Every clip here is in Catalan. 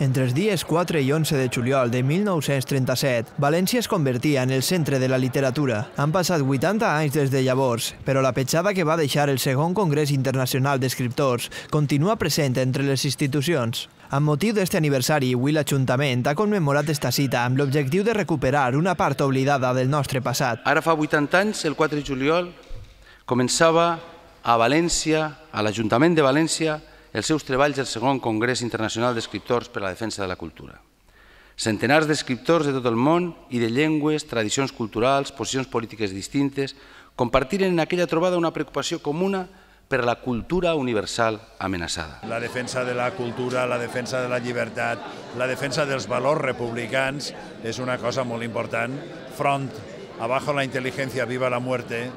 Entre els dies 4 i 11 de juliol de 1937, València es convertia en el centre de la literatura. Han passat 80 anys des de llavors, però la petjada que va deixar el segon Congrés Internacional d'Escriptors continua present entre les institucions. Amb motiu d'aquest aniversari, avui l'Ajuntament ha commemorat esta cita amb l'objectiu de recuperar una part oblidada del nostre passat. Ara fa 80 anys, el 4 de juliol, començava a València, a l'Ajuntament de València, els seus treballs del segon Congrés Internacional d'Escriptors per a la Defensa de la Cultura. Centenars d'escriptors de tot el món i de llengües, tradicions culturals, posicions polítiques distintes, compartiren en aquella trobada una preocupació comuna per a la cultura universal amenaçada. La defensa de la cultura, la defensa de la llibertat, la defensa dels valors republicans és una cosa molt important. Front, abajo la inteligencia, viva la muerte.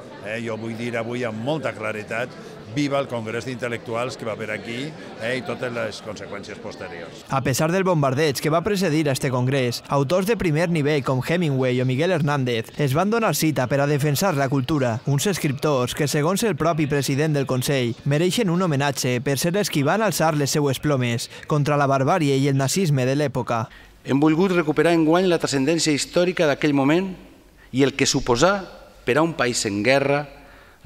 Jo vull dir avui amb molta claretat, viva el Congrés d'Intel·lectuals que va haver aquí i totes les conseqüències posteriors. A pesar del bombardeig que va precedir a este congrés, autors de primer nivell com Hemingway o Miguel Hernández es van donar cita per a defensar la cultura, uns escriptors que, segons el propi president del Consell, mereixen un homenatge per ser els qui van alçar les seues plomes contra la barbàrie i el nazisme de l'època. Hem volgut recuperar enguany la transcendència històrica d'aquell moment i el que suposà per a un país en guerra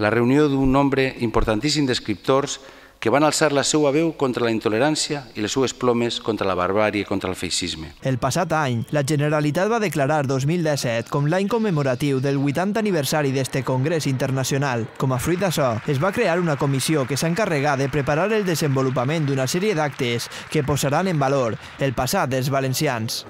la reunió d'un nombre importantíssim d'escriptors que van alçar la seva veu contra la intolerància i les seues plomes contra la barbàrie i contra el feixisme. El passat any, la Generalitat va declarar 2017 com l'any commemoratiu del 80 aniversari d'este Congrés Internacional. Com a fruit d'això, es va crear una comissió que s'encarregà de preparar el desenvolupament d'una sèrie d'actes que posaran en valor el passat dels valencians.